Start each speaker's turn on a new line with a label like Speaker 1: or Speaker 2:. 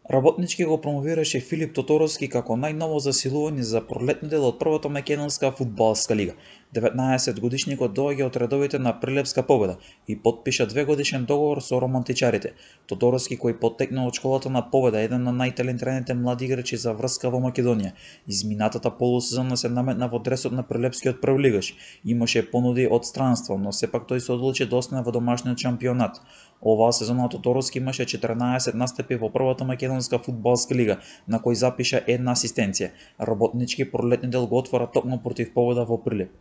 Speaker 1: Работнички го промовираше Филип Тоторовски како најново засилување за пролетни дел од првата македонска фудбалска лига. 19-годишникот доаѓа од редовите на Прилепска Победа и потпиша 2-годишен договор со романтичарите. Тоторовски, кој потекна од школата на Победа, еден на најталентираните млади играчи за врска во Македонија, изминатата полусезона се наметна во дресот на прилепскиот првлигаш. Имаше понуди од странство, но сепак тој се одлучи да остане во домашниот шампионат. Оваа сезона Тоторовски имаше 14 настапи во првата македонска фудбалска лига, на кој запиша една асистенција. Работнички пролетни дел го отвора токму против Победа во Прилеп.